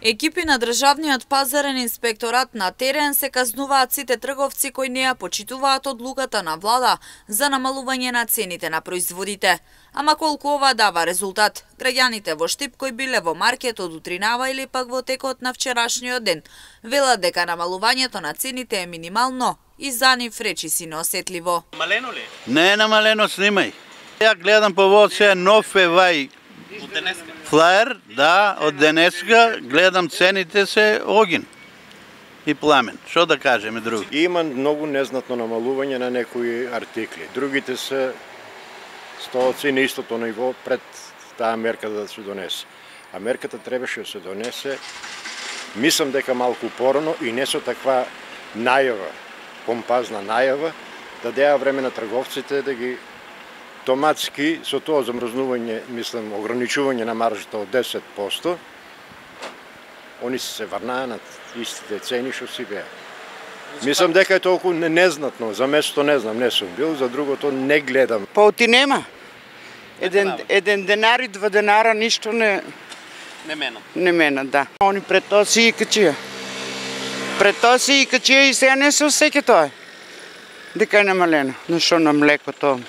Екипи на Државниот пазарен инспекторат на терен се казнуваат сите трговци кои не ја почитуваат одлуката на влада за намалување на цените на производите. Ама колку ова дава резултат? Граѓаните во Штип кои биле во маркет од утринава или пак во текот на вчерашниот ден велат дека намалувањето на цените е минимално и за нив речиси неосетливо. Намалено ли? Не е намалено, снимај. Ја гледам по вод се нов вај флаер, да, од денеска гледам цените се огин и пламен. Што да кажеме друго? Има многу незнатно намалување на некои артикли. Другите се стоци на истото ниво пред таа мерка да се донесе. А мерката требаше да се донесе, мислам дека малку порано и не со таква најава, помпазна најава, да деа време на трговците да ги томатски со тоа замрзнување, мислам, ограничување на маржата од 10%, они се врнаа на истите цени што си беа. Мислам дека е толку незнатно, за место не знам, не сум бил, за другото не гледам. Паути нема. Еден денар и 2 денара ништо не мена, да. Они пред тоа си и качија. Пред тоа си и качија и сега не се осеќа тоа. Дека е намалено. Но што на млекото,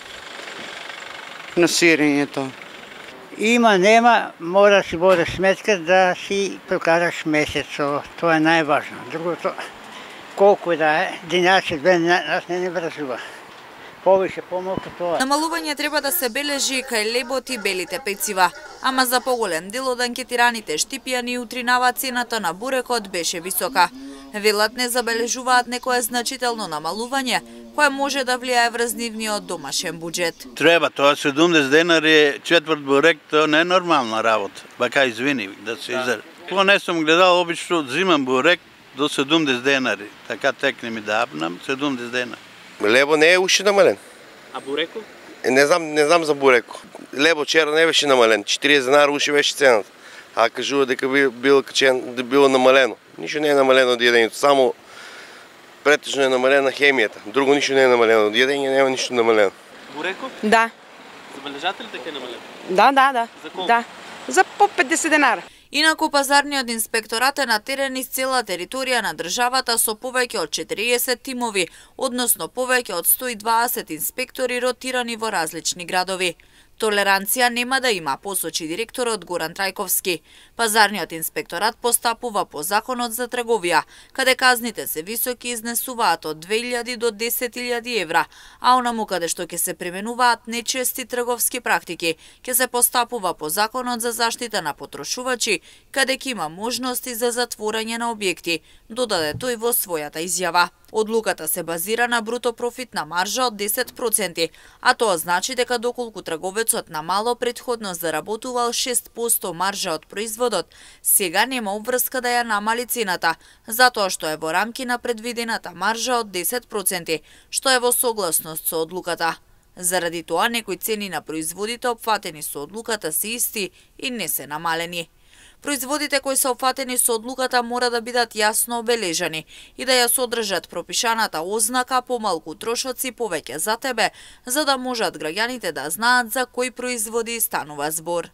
на сирењето. Има, нема, мора да си води сметка да си прокараш месецо. Тоа е најважно. Другото, колку да е, денарче, 2 нас не врзува. Повише, помалку тоа. Намалување треба да се бележи кај лебот и белите пецива, ама за поголем дел од анкетираните штипјани утринава цената на бурекот беше висока. Велат не забележуваат некое значително намалување, кое може да влијае врз нивниот домашен буџет. Треба, тоа 70 денари четврт бурек, тоа не е нормална работа. Бака извини да се изрази. Кога не сум гледал, обично взимам бурек до 70 денари. Така текне ми да апнам 70 денари. Лебо не е уште намален. А буреко? Не знам за буреко. Лебо вчера не беше намален, 40 денари уште беше цената. А кажува дека било намалено. Ништо не е намалено од јадењето, само претежно е намалена хемијата. Друго ништо не е намалено од јадење, нема ништо намалено. Буреко? Да. Забележате ли дека е намалено? Да. За колку? Да. За по 50 денара. Инаку пазарниот инспекторат е на терен из цела територија на државата со повеќе од 40 тимови, односно повеќе од 120 инспектори ротирани во различни градови. Толеранција нема да има, посочи директорот Горан Трајковски. Пазарниот инспекторат постапува по законот за трговија, каде казните се високи изнесуваат од 2000 до 10.000 евра, а онаму каде што ќе се применуваат нечести трговски практики, ќе се постапува по законот за заштита на потрошувачи, каде ќе има можности за затворање на објекти, додаде тој во својата изјава. Одлуката се базира на бруто профитна маржа од 10%, а тоа значи дека доколку трговецот на мало предходно заработувал 6% маржа од производот, сега нема обврска да ја намали цената, затоа што е во рамки на предвидената маржа од 10%, што е во согласност со одлуката. Заради тоа некои цени на производите опфатени со одлуката се исти и не се намалени. Производите кои се опфатени со одлуката мора да бидат јасно обележани и да ја содржат пропишаната ознака помалку трошоци повеќе за тебе, за да можат граѓаните да знаат за кои производи станува збор.